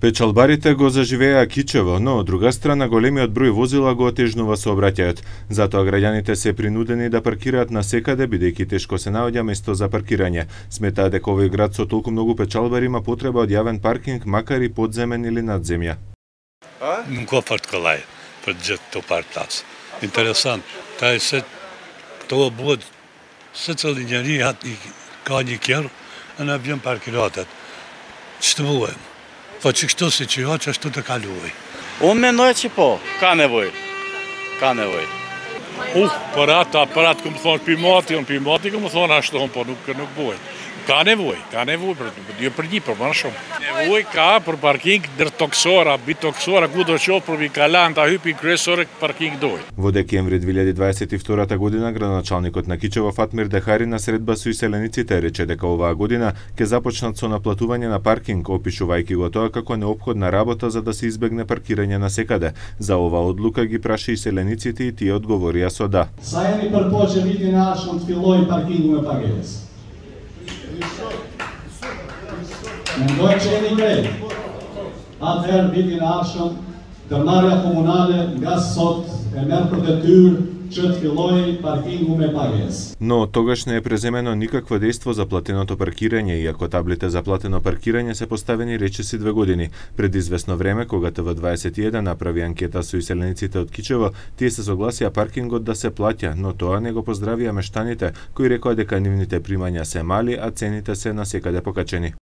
Печалбарите го заживеа кичево, но од друга страна големиот број возила го отежнува сообраќајот. Затоа граѓаните се принудени да паркираат насекаде бидејќи тешко се наоѓа место за паркирање. Сметаа дека овој град со толку многу печалбари има потреба од јавен паркинг, макар и подземен или над земја. Nuk ka partikolaj për gjithë këto parkplac. Interesant, ta e se këto bëhet se cili njeri ka një kjerë, e na vjen parkiratet. Ç'të bëjmë? Po që kështu si që jo, që ashtu të kaluaj. Unë mendoj që po, ka nevoj. Ka nevoj. Për atë këmë thonë pimati këmë thonë ashtu, po nuk bëj. Ka nevoj, për një, për më shumë. Nevoj ka për parking dër toksora, bitoksora, ku do qofë për vikalan, ta hypin kryesore parking doj. Во декември 2022 година, градоначалникот на Кичево Фатмир Дехари на средба со иселениците рече дека оваа година ќе започнат со наплатување на паркинг, опишувајќи го тоа како неопходна работа за да се избегне паркирање насекаде. За оваа одлука ги праша иселениците и тие одговорија со да. Sa jeni përpoqë vitin e ardhshëm të fillojë parkingu me pagesë? Mendoj që jeni krejt. Atëherë vitin e ardhshëm ndërmarrja komunale nga sot e merr për detyrë që të fillojë parkingu me pagesë. Но тогаш не е преземено никакво дејство за платеното паркирање, иако таблите за платено паркирање се поставени речиси 2 години. Пред известно време, кога ТВ21 направи анкета со иселениците од Кичево, тие се согласија паркингот да се плаќа, но тоа не го поздравија мештаните, кои рекоа дека нивните примања се мали, а цените се насекаде покачени.